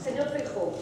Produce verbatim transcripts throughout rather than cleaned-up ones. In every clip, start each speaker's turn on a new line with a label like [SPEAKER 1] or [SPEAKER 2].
[SPEAKER 1] Señor Feijóo,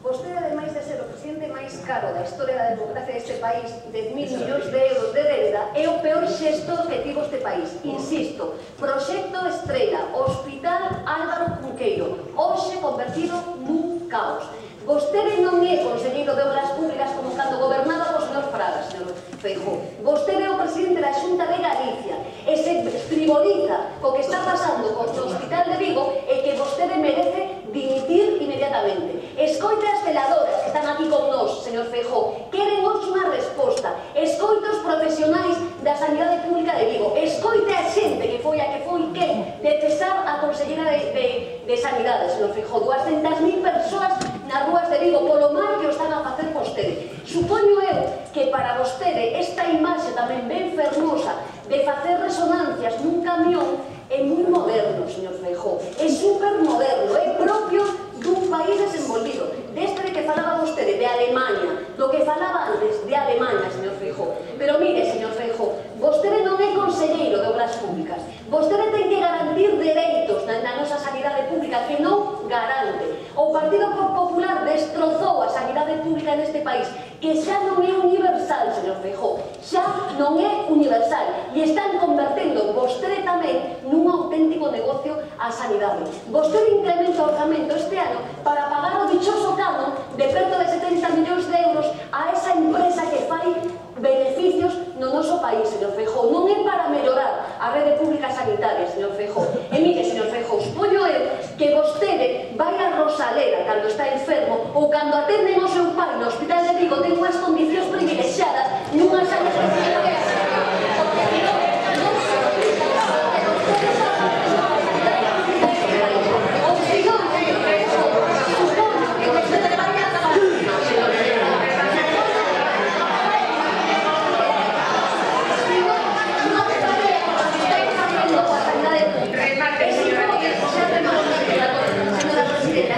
[SPEAKER 1] vostede, ademais de ser o presidente máis caro da historia da democracia deste país, dez mil millóns de euros de débeda, é o peor xestor que tivo este país. Insisto, proxecto estrela, Hospital Álvaro Cunqueiro, hoxe convertido nun caos. Vostede non é conselleiro de Obras Públicas como cando gobernaba o señor Fraga, señor Feijóo. Vostede é o presidente da Xunta de Galicia e se frivoliza co que está pasando co Hospital de Vigo e que vostede merece dimitir inmediatamente. Escoite as veladoras que están aquí con nós, señor Feijóo. Queren hoxe unha resposta. Escoite os profesionais da Sanidade Pública de Vigo. Escoite a xente que foi a que foi que de cesar a consellera de, de, de Sanidade, señor Feijóo. duascentas mil persoas nas rúas de Vigo polo mal que o están a facer vostede. Supoño eu que para vostede esta imaxe tamén ben fermosa de facer resonancias nun camión é moi moderno, señor Feijóo. É supermoderno, é propio dun país desenvolvido. Deste de que falaba vostede, de Alemanha, do que falaba antes de Alemanha, señor Feijóo. Pero mire, señor Feijóo, vostede non é conselleiro de Obras Públicas. Vostede ten que garantir dereitos na, na nosa sanidade pública que non garante. O Partido Popular destrozou a sanidade pública neste país, que xa non é universal, señor Feijóo. Xa non é universal. E están convertendo vostede tamén nun auténtico negocio a sanidade. Vostede incrementa o orzamento este ano para pagar o dichoso canon de perto de setenta millóns de euros a esa empresa que fai beneficios no noso país, señor Feijóo. Non é para mellorar a rede pública sanitaria, señor Feijóo. E mire, señor Feijóo, supoño eu que vostede vai a Rosalera cando está enfermo ou cando atenden o seu pai no Hospital de Vigo ten unhas condicións privilexiadas nunha sanidade pública.
[SPEAKER 2] Remate, señora.
[SPEAKER 1] Señora presidenta,